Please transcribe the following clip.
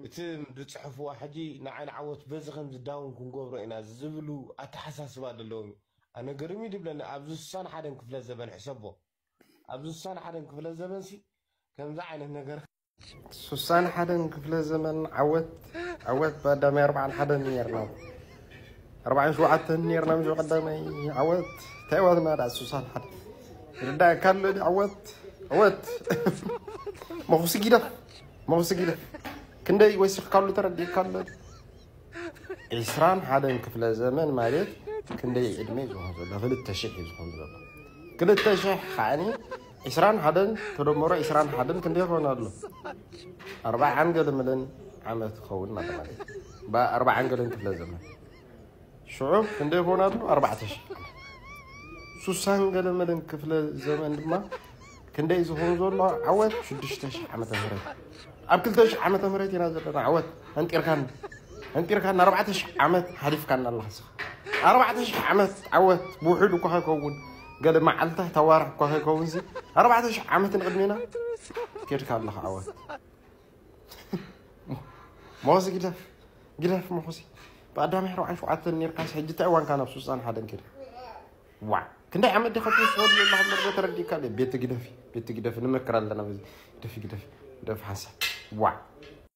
እቲ ዝፅሕፍዋ ሕጂ ንዓይ ንዓወት በዚ ከም ዝዳውን ክንገብሮ ኢና ዝብሉ ኣተሓሳስባ ዘለዎም እዩ። ኣነ ገርም እዩ ድብለኒ ኣብዚ ስሳን ሓደን ክፍለ ዘበን ሕሰቦ ኣብዚ ስሳን ሓደን ክፍለ ዘበን ሲ ከምዚ ዓይነት ነገር ሱሳን ሓደን ክፍለ ዘመን ዓወት ዓወት ብኣዳማይ ኣርባዓን ሓደን ነርና ኣርባዓን ሸውዓተን ነርና ምሽ ቀዳማይ ዓወት እንታይ ዋትና ዳ ሱሳን ሓደ ርዳእካ ኣሎ ዓወት ዓወት መኹሲ ጊደፍ መኹሲ ጊደፍ ክንደይ ወሲኽካሉ ተረዲእካ ኣሎ ዕስራን ሓደን ክፍለ ዘመን ማለት ክንደይ ዕድመ እዩ ዝኾን ዘሎ ክልተ ሽሕ እዩ ዝኾን ዘሎ ክልተ ሽሕ ከዓኒ ዕስራን ሓደን ተደመሮ ዕስራን ሓደን ክንደይ ይኸውን ኣሎ ኣርባዓን ገለመለን ዓመት ክኸውን ማለት ማለት በኣርባዓን ገለን ክፍለ ዘመን ሽዑ ክንደይ ይኸውን ኣሎ ኣርባዕተ ሽሕ ሱሳን ገለመለን ክፍለ ዘመን ድማ ክንደይ ዝኸውን ዘሎ ዓወት ሽዱሽተ ሽሕ ዓመተ ምህረት ኣብ ክልተ ሽሕ ዓመተ ምህረት ኢና ዘለና ዓወት ኣንጢርካን ኣንጢርካን ኣርባዕተ ሽሕ ዓመት ሓሊፍካና ኣለኻ ስኻ ኣርባዕተ ሽሕ ዓመት ዓወት ብውሕድ እኳ ከይከውን ገለ መዓልታት ኣዋርሕ እኳ ከይከውን ሲ ኣርባዕተ ሽሕ ዓመት ንቅድሜና ኬድካ ኣለኻ ዓወት ሞኸሲ ግደፍ ግደፍ ሞኸሲ ብኣዳሚ ኣርባዓን ሸውዓተን ነርካስ ሕጂ እንታይ እዋንካ ናብ ሱሳን ሓደን ኬድካ ዋ ክንደይ ዓመት ዲኻ ትወስዶ ዘለኻ ምርዶ ተረዲእካ ቤት ግደፊ ቤት ግደፊ ንምክር ኣለና በዚ ግደፊ ግደፊ ግደፊ ሓንሳብ ዋ